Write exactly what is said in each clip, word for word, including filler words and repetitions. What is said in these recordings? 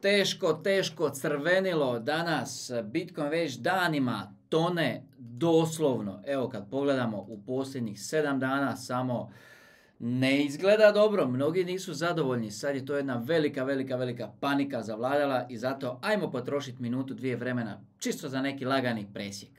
Teško, teško crvenilo danas, Bitcoin već danima tone doslovno. Evo kad pogledamo u posljednjih sedam dana samo ne izgleda dobro, mnogi nisu zadovoljni. Sad je to jedna velika, velika, velika panika zavladala i zato ajmo potrošiti minutu, dvije vremena čisto za neki lagani presjek.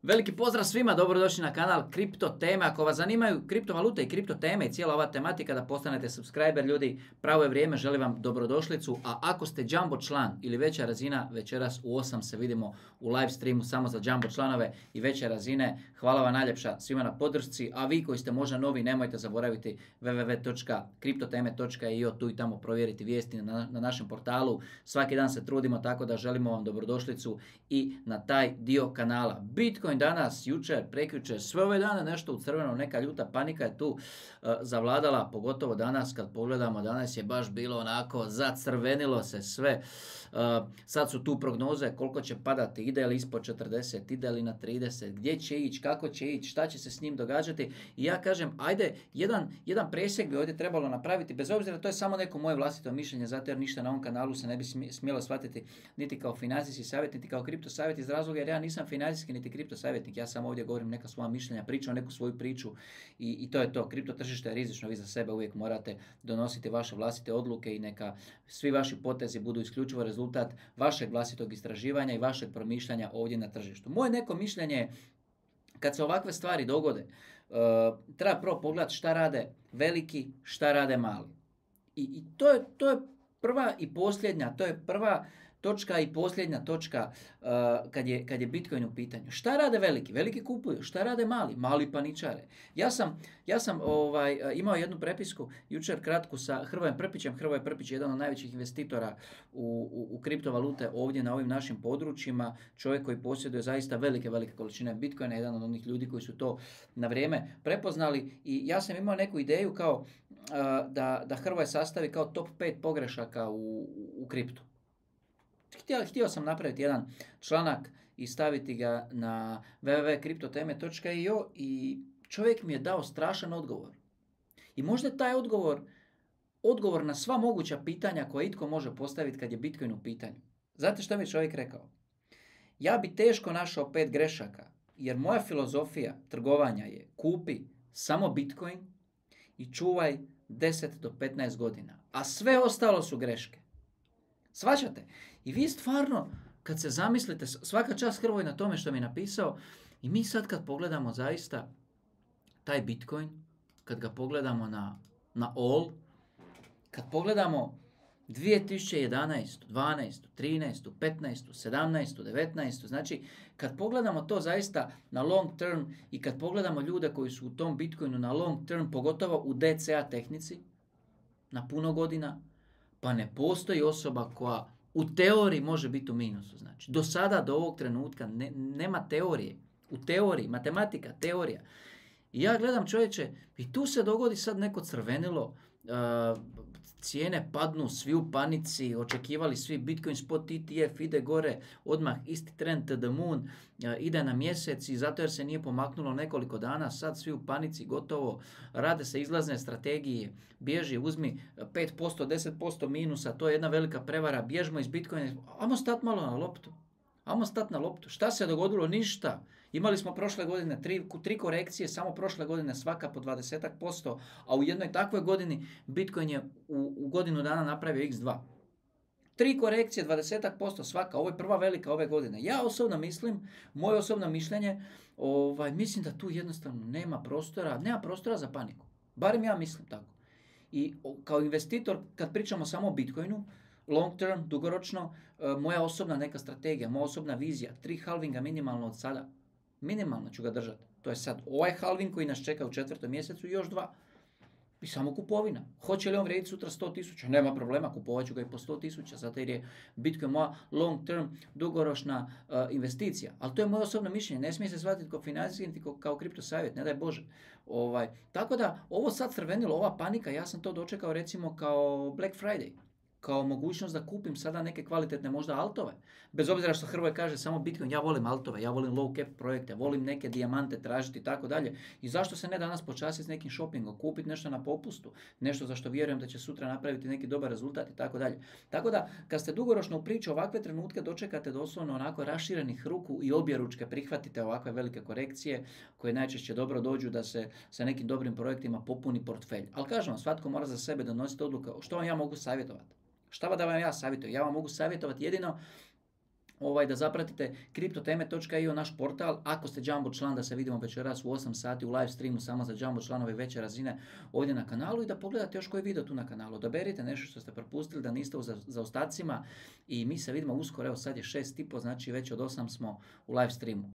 Veliki pozdrav svima, dobrodošli na kanal Kripto teme. Ako vas zanimaju kriptovalute i kripto teme i cijela ova tematika da postanete subscriber, ljudi, pravo je vrijeme, želim vam dobrodošlicu. A ako ste Jumbo član ili veća razina, večeras u osam se vidimo u live streamu samo za Jumbo članove i veće razine. Hvala vam najljepša svima na podršci, a vi koji ste možda novi, nemojte zaboraviti w w w točka kriptoteme točka i o, tu i tamo provjeriti vijesti na, na našem portalu. Svaki dan se trudimo tako da želimo vam dobrodošlicu i na taj dio kanala. Bitcoin danas, jučer, prekjučer, sve ove dane nešto u crveno, neka ljuta panika je tu uh, zavladala, pogotovo danas kad pogledamo, danas je baš bilo onako, zacrvenilo se sve. Uh, sad su tu prognoze koliko će padati, ide li ispod četrdeset, ide li na trideset, gdje će ići, kako će ići, šta će se s njim događati. I ja kažem, ajde, jedan, jedan presjek bi ovdje trebalo napraviti, bez obzira to je samo neko moje vlastito mišljenje, zato jer ništa na ovom kanalu se ne bi smjelo shvatiti niti kao financijski savjet, niti kao kripto savjet, iz razloga jer ja nisam financijski niti kripto savjetnik, ja samo ovdje govorim neka svoja mišljenja, pričam neku svoju priču i, i to je to. Kripto tržište je rizično, vi za sebe uvijek morate donositi vaše vlastite odluke i neka svi vaši potezi budu isključivo rezultat vašeg vlastitog istraživanja i vašeg promišljanja ovdje na tržištu. Moje neko mišljenje je, kad se ovakve stvari dogode, uh, treba prvo pogledati šta rade veliki, šta rade mali. I, i to, je, to je prva i posljednja, to je prva točka i posljednja točka uh, kad, je, kad je Bitcoin u pitanju. Šta rade veliki? Veliki kupuju. Šta rade mali? Mali paničare. Ja sam, ja sam ovaj, imao jednu prepisku jučer kratku sa Hrvojem Prpićem. Hrvoje Prpić je jedan od najvećih investitora u, u, u kriptovalute ovdje na ovim našim područjima. Čovjek koji posjeduje zaista velike, velike količine Bitcoina. Jedan od onih ljudi koji su to na vrijeme prepoznali. I ja sam imao neku ideju kao uh, da, da Hrvoje sastavi kao top pet pogrešaka u, u, u kriptu. Htio, htio sam napraviti jedan članak i staviti ga na w w w točka kriptoteme točka i o i čovjek mi je dao strašan odgovor. I možda je taj odgovor odgovor na sva moguća pitanja koje itko može postaviti kad je Bitcoin u pitanju. Znate što mi je čovjek rekao? Ja bi teško našao pet grešaka, jer moja filozofija trgovanja je kupi samo Bitcoin i čuvaj deset do petnaest godina, a sve ostalo su greške. Svaćate? I vi stvarno, kad se zamislite, svaka čast Hrvoj na tome što mi je napisao, i mi sad kad pogledamo zaista taj Bitcoin, kad ga pogledamo na, na all, kad pogledamo dvije tisuće jedanaestu, dvanaestu, trinaestu, petnaestu, sedamnaestu, devetnaestu, znači kad pogledamo to zaista na long term i kad pogledamo ljude koji su u tom Bitcoinu na long term, pogotovo u D C A tehnici, na puno godina, pa ne postoji osoba koja u teoriji može biti u minusu. Znači, do sada, do ovog trenutka, ne, nema teorije. U teoriji, matematika, teorija. I ja gledam, čovječe, i tu se dogodi sad neko crvenilo, uh, cijene padnu, svi u panici, očekivali svi Bitcoin spot E T F ide gore, odmah isti trend to the moon, uh, ide na mjesec i zato jer se nije pomaknulo nekoliko dana, sad svi u panici, gotovo, rade se izlazne strategije, bježi, uzmi pet posto, deset posto minusa, to je jedna velika prevara, bježmo iz Bitcoina, ajmo stat malo na loptu. Ajmo stat na loptu. Šta se dogodilo? Ništa. Imali smo prošle godine tri, tri korekcije, samo prošle godine svaka po dvadeset posto, a u jednoj takvoj godini Bitcoin je u, u godinu dana napravio iks dva. Tri korekcije, dvadeset posto svaka, ovo je prva velika ove godine. Ja osobno mislim, moje osobno mišljenje, ovaj, mislim da tu jednostavno nema prostora, nema prostora za paniku. Barem ja mislim tako. I kao investitor, kad pričamo samo o Bitcoinu, long term, dugoročno, moja osobna neka strategija, moja osobna vizija, tri halvinga minimalno od sada. Minimalno ću ga držati. To je sad ovaj halving koji nas čeka u četvrtom mjesecu i još dva. I samo kupovina. Hoće li on vrijediti sutra sto tisuća? Nema problema, kupovat ću ga i po sto tisuća, zato jer je Bitcoin moja long term, dugoročna uh, investicija. Ali to je moje osobno mišljenje. Ne smije se shvatiti kao financijski niti kao kripto savjet, ne daj Bože. Ovaj, tako da, ovo sad crvenilo, ova panika, ja sam to dočekao recimo kao Black Friday. kao mogućnost da kupim sada neke kvalitetne možda altove. Bez obzira što Hrvoje kaže samo Bitcoin, ja volim altove, ja volim low cap projekte, volim neke dijamante tražiti i tako dalje. I zašto se ne danas počasiti s nekim shoppingom, kupiti nešto na popustu, nešto za što vjerujem da će sutra napraviti neki dobar rezultat i tako dalje. Tako da, kad ste dugoročno u priči, ovakve trenutke dočekate doslovno onako raširenih ruku i objeručke prihvatite ovakve velike korekcije koje najčešće dobro dođu da se sa nekim dobrim projektima popuni portfelj. Ali kažem vam, svatko mora za sebe donositi odluke što vam ja mogu savjetovati. Šta da vam ja savjetujem? Ja vam mogu savjetovati jedino ovaj, da zapratite kriptoteme točka i o naš portal. Ako ste Jumbo član, da se vidimo večeras u osam sati u live streamu samo za Jumbo članove veće razine ovdje na kanalu i da pogledate još koji video tu na kanalu. Odaberite nešto što ste propustili, da niste u zaostacima i mi se vidimo uskoro. Evo sad je šest i po, znači već od osam smo u live streamu.